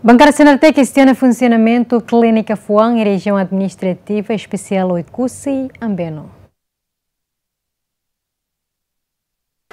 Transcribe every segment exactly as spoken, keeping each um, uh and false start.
Bankada C N R T kestiona funsionamentu klínika fuan iha Rejiaun Administrativa Espesiál Oekusi, Ambeno.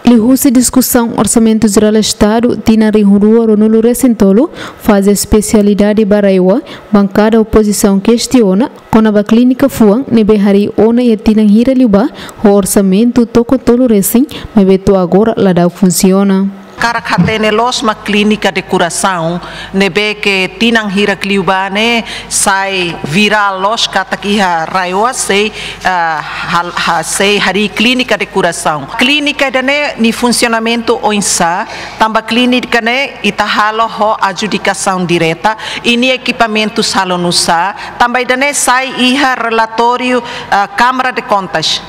Liuhusi diskusaun Orsamentu Jerál Estadu tinan rihun rua ruanulu-resin-tolu, faze espesialidade ba RAEOA, bankada opozisaun kestiona kona-ba klínika fuan ne'ebé harii ona iha tinan hira liubá ho orsamentu tokon tolu resin, maibé to'o agora la da'u funsiona. Hakarak hatene loos mak klínika de kurasaun ne'ebé ke tinan hirak liubá ne'e sai virál loos katak iha RAEOA sei, ah, hal-, ha-, sei harii klínika de kurasaun. Klínika ida-ne'e nia funsionamentu oinsá? Tanba klínika ne'e ita halo ho adjudikasaun direta, i nia ekipamentus halo nu'usá? Tanba ida-ne'e sai iha relatóriu, ah, Câmara de Contas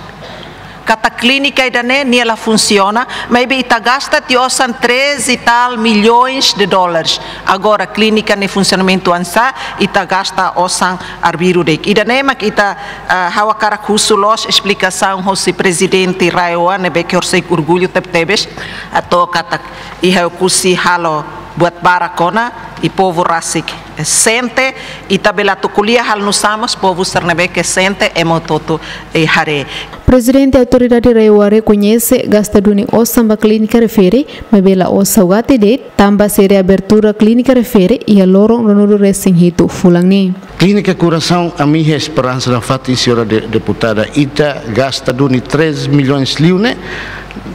katak klínika ida-ne'e nia la funsiona, maibé ita gasta tiha osan três e tal milhões de dólares. Agora klínika nia funsionamentu oinsá, ita gasta osan arbiru de'it. Ida-ne'e mak ita, ah, ha'u hakarak husu loos esplikasaun hosi prezidente RAEOA ne'ebé ke horiseik orgullu tebetebes, atu katak iha Oekusi halo buat barak ona, i povu rasik sente, ita bele atu ko'alia halo nu'usá mós povu sira ne'ebé ke sente ema hotu-hotu, eh, haree. Prezidente Autoridade RAEOA rekoñese gasta duni osan ba klínika refere, maibé la'ós saugati de'it, tanba sei reabertura klínika refere iha loron ruanulu-resin-hitu fulan ne'e. Klínika kurasaun, ami iha esperansa nafatin, señora de-, deputada, ita gasta duni três milhões liu ne'e,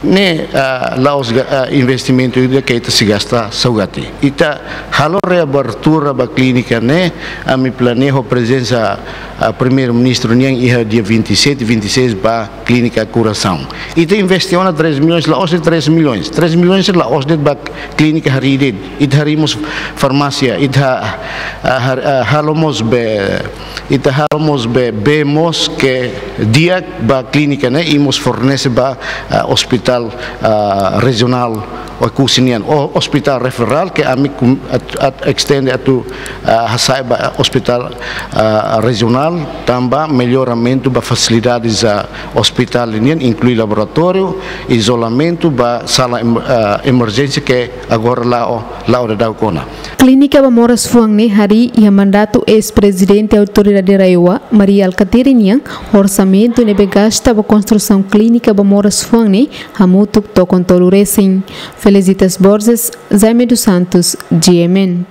ne'e, ah, la'ós ga-, ah, investimentu ida ke ita sei gasta saugati. Ita halo reabertura ba klínika ne'e, ami planeia ho prezensa, ah, Primeiru-Ministru nian iha dia vinte e sete, vinte e seis ba klínika kurasaun. Ita investe ona três milhões, la'ós de'it três milhões. Três milhões la'ós de'it ba klínika harii de'it. Ita harii mós farmásia, ita, ah, har-, ah, halo mós bee, ita halo mós bee, bee mós ke di'ak ba klínika ne'e, i mós fornese ba, ah, ospitál, ah, rejionál Oekusi nian, o-, ospitál referál ke ami kum-, at-, at-, estende atu, ah, hasa'e ba ospitál, ah, rejionál, tanba melloramentu ba fasilidades, ah, ospitál nian, inklui laboratóriu, izolamentu, ba sala em-, ah, emerjénsia ke agora la'o, la'o daudaun ona. Klínika ba moras fuan ne'e harii iha mandatu eis-prezidente Autoridade RAEOA, Mari Alkatiri nian, orsamentu ne'ebé gasta ba konstrusaun klínika ba moras fuan ne'e hamutuk tokon tolu resin. Felicitas Borges, Jaime dos Santos, G M N.